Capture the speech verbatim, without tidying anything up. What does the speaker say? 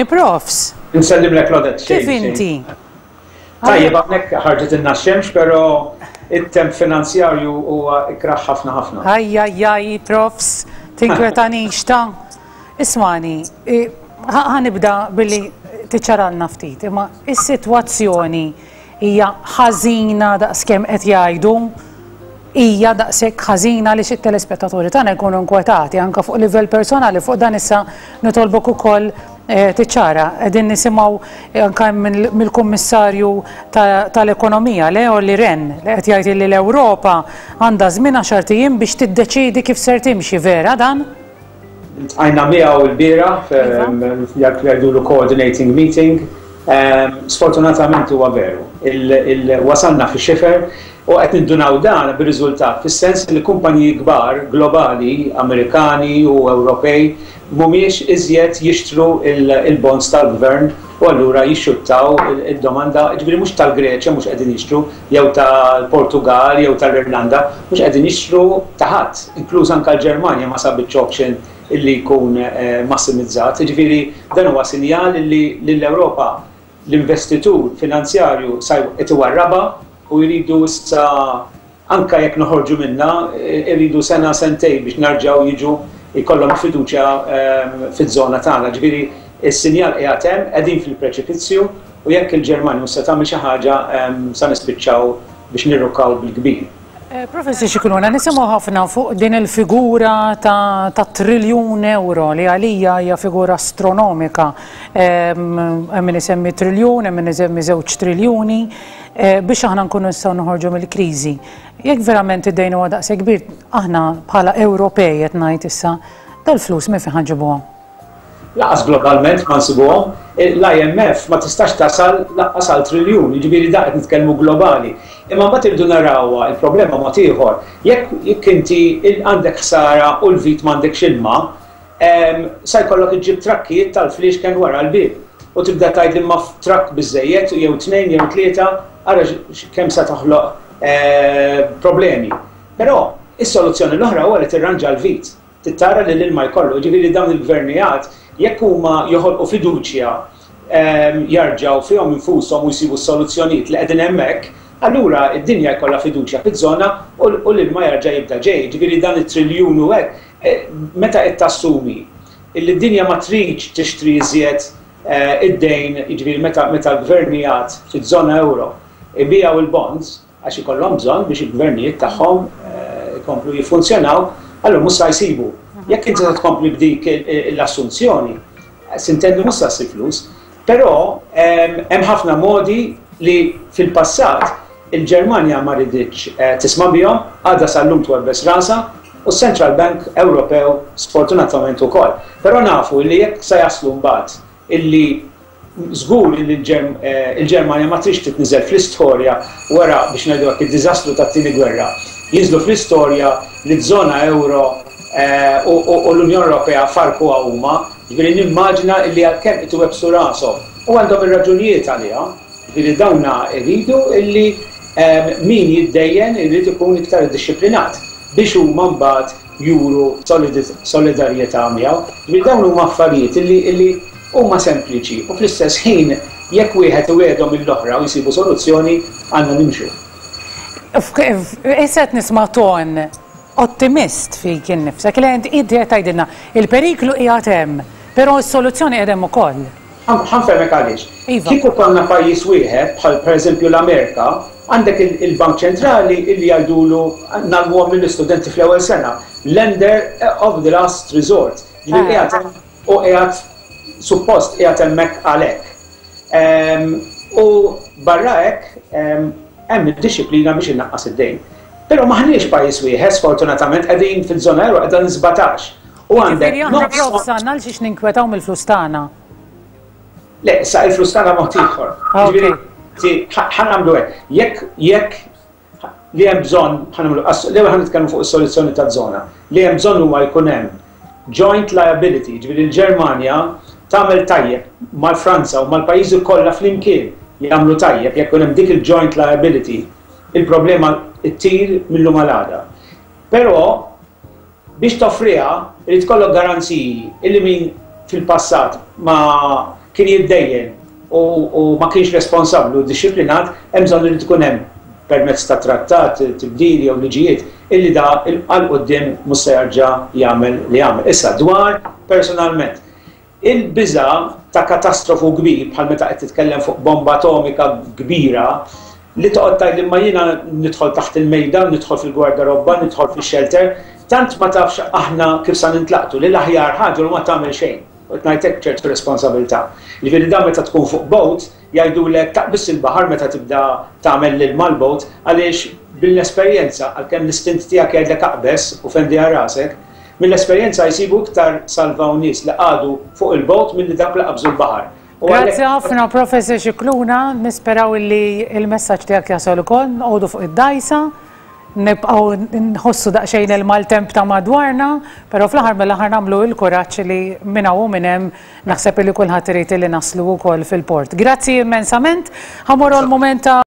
Profs. Nsellimlek, Claudette. Kif inti? Tajjeb, hawnhekk ħarġet ilna x-xemx, però it-temp finanzjarju huwa ikraħ ħafna ħafna. Aj, aj, aj, profs, tinkwetanix ta'. Ismagħni, ħa nibda billi tiċċaralna ftit, imma is-sitwazzjoni hija ħażina daqskemm qed jgħidu, hija daqshekk ħażina li xi telespettaturi tagħna jkunu inkwetati anke fuq livell personali? Fuq dan issa nitolbok ukoll eh, tiċċara. Qegħdin nisimgħu anke mill-Kummissarju tal-Ekonomija, le Olli Rehn, li qed jgħid li l-Ewropa għandha żmien għaxart ijiem biex tiddeċidi kif ser timxi. Vera dan? Iltqajna miegħu l-bieraħ, jgħidulu coordinating meeting. Sfortunatament huwa veru. Wasalna fi xifer u qed nindunaw dan bir-riżultat fis-sens li kumpaniji kbar globali, Amerikani u Ewropej, mhumiex iżjed jixtru il-bonds tal-gvern u allura jixxuttaw id-domanda, ġifieri mhux tal-Greċja mhux qegħdin jixtru, jew tal-Portugal, jew tal-Irlanda, mhux qegħdin jixtru ta' ħadd, inkluż anke l-Ġermanja ma sabitx auction illi jkun eh, massimizzat. Ġifieri dan huwa sinjal li l-Ewropa l-investitur finanzjarju sa qed iwarraba u jridu issa, anka jekk noħorġu minna, jridu sena sentej biex narġaw jiġu jkollhom fiduċja ehm, fiż-żona tagħna. Ġifieri is-sinjal qiegħed hemm, qegħdin fil-preċipizzju u jekk il-Ġermanja mhux se tagħmel xi ħaġa ehm, sa nispiċċaw biex nirrukkaw bil-kbir. Eh, Professor Scicluna, nisimgħu ħafna fuq din il-figura ta', ta triljun euro li għalija hija figura astronomika. Hemm min isemmi triljun, hemm min isemmi żewġ triljuni, eh, biex aħna nkunu nistgħu noħorġu mill-kriżi. Jekk verament id-dejn huwa daqshekk kbir, aħna bħala Ewropej qed ngħid issa, dal-flus minn fejn ħa nġibuhom? Lanqas globalment ma nsibuhom, l-I M F ma tistax tasal lanqas għal triljun, jiġifieri da qed nitkellmu globali. Imma mbagħad irridu narawha il-problema mod ieħor. Jekk jekk inti għandek ħsara u l-vit m'għandekx ilma, sa jkollok iġġib trakkijiet tal-fliexken wara l-bib. U tibda tgħid li ma trakk biżejjed jew tnejn jew tlieta, ara kemm sa toħloq eh, problemi. Però is-soluzzjoni l-oħra huwa li tirranġa l-vit. Tittara li l-ilma jkollu, ġifieri dawn il-gvernijiet jekk huma joħolqu fiduċja, jarġaw fihom infushom u jsibu soluzzjonijiet li qegħdin hemmhekk, allura id-dinja jkollha fiduċja fiż-żona u l-ilma jarġa' jibda ġej. Ġifieri dan it-triljun u hekk, eh, meta qed tassumi illi d-dinja ma tridx tixtri iżjed eh, id-dejn, jiġifieri meta meta l-gvernijiet fiż-żona euro ibijaw il-bonds għax ikollhom bżonn biex il-gvernijiet tagħhom eh, ikomplu jiffunzjonaw, allura mhux sa jsibu. Jekk inti tkompli b'dik l-assunzjoni, s'intendi mhux sa ssib flus, però hemm ħafna modi li fil-passat il-Ġermanja ma riditx eh, tisma' bihom, għadha sal-lum twebbes rasa, u Central Bank Ewropew sfortunatament ukoll. Però nafu li jekk sa jaslu mbagħad illi żgur li eh, il-Ġermanja ma tridx titniżel fl-istorja wara, biex ngħidu hekk, id-diżastru tat-tieni gwerra. Jinżlu fl-istorja li żona euro eh, u l-Unjoni Ewropea farku huma, ġifieri nimmaġina li għalkemm qed iwebbsu rashom u għandhom ir-raġunijiet għaliha, ġifieri dawna jridu illi eh, min jiddejjen irid ikun iktar iddixxiplinat biex huma mbagħad juru solidarjetà miegħu. Ġifieri dawn huma affarijiet illi illi huma sempliċi u fl-istess ħin jekk wieħed iwiegħdhom mill-oħra u jsibu soluzzjoni, għandna nimxu. Issa qed nisma' ton ottimist fik innifsek li inti qed tgħidilna il-periklu qiegħed hemm, però s-soluzzjoni qiegħed hemm ukoll. Ħa nfehmek għaliex. Iva. Kieku konna pajjiż wieħed, bħal pereżempju l-Amerika, għandek il- il-Bank Ċentrali illi jgħidulu ngħallmuhom lill-istudenti fl-ewwel sena, lender of the last resort. Ġifieri Ah. qiegħed hemm u qiegħed suppost qiegħed hemmhekk għalhekk. Ehm, U barra hekk ehm, hemm id-dixxiplina biex innaqqas id-dejn. Però maħniex pajjiż wieħed, sfortunatament qegħdin fil-żona euro qegħdin sbatax. U għandek Ġifieri aħna nofs- profs għandna għal xiex ninkwetaw mill-flus tagħna. Le, sa il-flus tagħna mod ieħor. Ah, ok. Ġifieri, ti- ħa ħa nagħmlu hekk. Jekk jekk li hemm bżonn ħa nagħmlu l-ewwel ħa nitkellmu fuq is-soluzzjoni taż-żona. Li hemm bżonn huwa jkun hemm joint liability, ġifieri l-Ġermanja tagħmel tajjeb mal-Franza u mal-pajjiżi kollha flimkien jagħmlu tajjeb. Jekk ikun hemm dik il-joint liability, il-problema ttir mill-lum għal għada. Però biex toffriha irid ikollok garanziji illi min fil-passat ma kien jiddejjen u, u ma kienx responsabbli u dixxiplinat, hemm bżonn li tkun hemm permezz ta' trattat, tibdil jew liġijiet illi da għal quddiem mhux se jerġa' jagħmel li jagħmel. Issa dwar personalment. Il-biża ta' katastrofu kbir bħal meta qed titkellem fuq bomba atomika kbira li toqgħod tgħid imma jiena nidħol taħt il-mejda, nidħol fil-gwardarobba, nidħol fix-shelter, tant ma tafx aħna kif sa nintlaqtu li l-aħjar ħaġa li ma tagħmel xejn. U ngħidlek ċertu responsabilità. Jiġifieri dan meta tkun fuq boat, jgħidulek taqbiż il-baħar meta tibda tagħmel lil mal-boat għaliex bil-esperjenza għalkemm l-istint tiegħek jgħidlek aqbeż u fendi rasek, mill-esperjenza jsibu iktar salvaw nies li qagħdu fuq il-boat milli dak li qabżu l-baħar. U Grazzi ħafna, Professor Scicluna, nisperaw li il-messaġġ tiegħek jasal ukoll, noqogħdu fuq id-dajsa, nibqgħu nħossu daqsxejn il-maltemp ta' madwarna, però fl-aħħar mill-aħħar nagħmlu il-kuraġġ li minn hawn u minn hemm naħseb li kulħadd irid li naslu wkoll fil-port. Grazzi immensament, ħa mmorru l-mument ta'